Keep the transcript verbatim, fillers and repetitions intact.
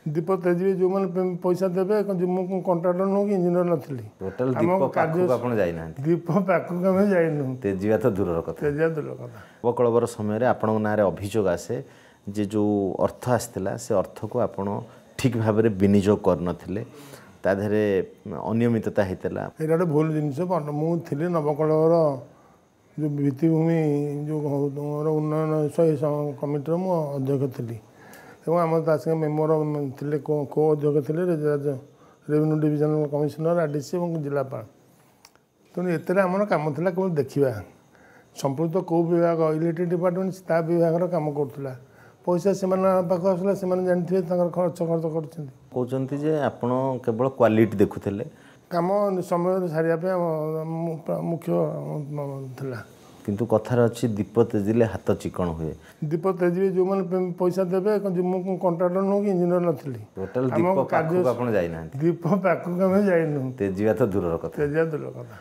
ଦୀପ ତେଜିବେ ଯେଉଁମାନେ ପଇସା ଦେବେ। ମୁଁ କଣ୍ଟ୍ରାକ୍ଟର ନୁହଁ କି ଇଞ୍ଜିନିୟର ନଥିଲି। ଟୋଟାଲ ଦୀପ ପାଖକୁ ଆପଣ ଯାଇନାହାନ୍ତି? ଦୀପ ପାଖକୁ ଆମେ ଯାଇନୁ, ତେଜିବା ତ ଦୂରର କଥା। ତେଜିବା ଦୂରର କଥା। ନବକଳେବର ସମୟରେ ଆପଣଙ୍କ ନାଁରେ ଅଭିଯୋଗ ଆସେ ଯେ ଯେଉଁ ଅର୍ଥ ଆସିଥିଲା ସେ ଅର୍ଥକୁ ଆପଣ ଠିକ୍ ଭାବରେ ବିନିଯୋଗ କରିନଥିଲେ, ତା ଦେହରେ ଅନିୟମିତତା ହେଇଥିଲା। ଏଇଟା ଗୋଟେ ଭୁଲ ଜିନିଷ। ମୁଁ ଥିଲି ନବକଳେବର ଯେଉଁ ଭିତ୍ତିଭୂମି ଯେଉଁ ଉନ୍ନୟନ କମିଟିର ମୁଁ ଅଧ୍ୟକ୍ଷ ଥିଲି, ଏବଂ ଆମର ତା ସାଙ୍ଗେ ମେମ୍ବର ଥିଲେ, କୋ ଅଧ୍ୟକ୍ଷ ଥିଲେ revenue divisional commissioner, R D C ଏବଂ ଜିଲ୍ଲାପାଳ। ତେଣୁ ଏଥିରେ ଆମର କାମ ଥିଲା କେବଳ ଦେଖିବା ସମ୍ପୃକ୍ତ କେଉଁ ବିଭାଗ, ଇଲେକ୍ଟ୍ରିକ୍ ଡିପାର୍ଟମେଣ୍ଟ ତା ବିଭାଗର କାମ କରୁଥିଲା। ପଇସା ସେମାନଙ୍କ ପାଖକୁ ଆସୁଥିଲା, ସେମାନେ ଜାଣିଥିବେ ତାଙ୍କର ଖର୍ଚ୍ଚ ଖର୍ଚ୍ଚ କରୁଛନ୍ତି। କହୁଛନ୍ତି ଯେ ଆପଣ କେବଳ କ୍ୱାଲିଟି ଦେଖୁଥିଲେ, କାମ ସମୟରେ ସାରିବା ପାଇଁ ମୁଖ୍ୟ ଥିଲା। କିନ୍ତୁ କଥାରେ ଅଛି ଦୀପ ତେଜିଲେ ହାତ ଚିକଣ ହୁଏ। ଦୀପ ତେଜିବେ ଯେଉଁମାନେ ପଇସା ଦେବେ। ମୁଁ କଣ୍ଟ୍ରାକ୍ଟର ନୁହଁ କି ଇଞ୍ଜିନିୟର ନଥିଲି। ଟୋଟାଲ ଦୀପ ପାଖକୁ ଆପଣ ଯାଇନାହାନ୍ତି? ଦୀପ ପାଖକୁ ଆମେ ଯାଇନୁ, ତେଜିବା ତ ଦୂରର କଥା। ତେଜିବା ଦୂରର କଥା।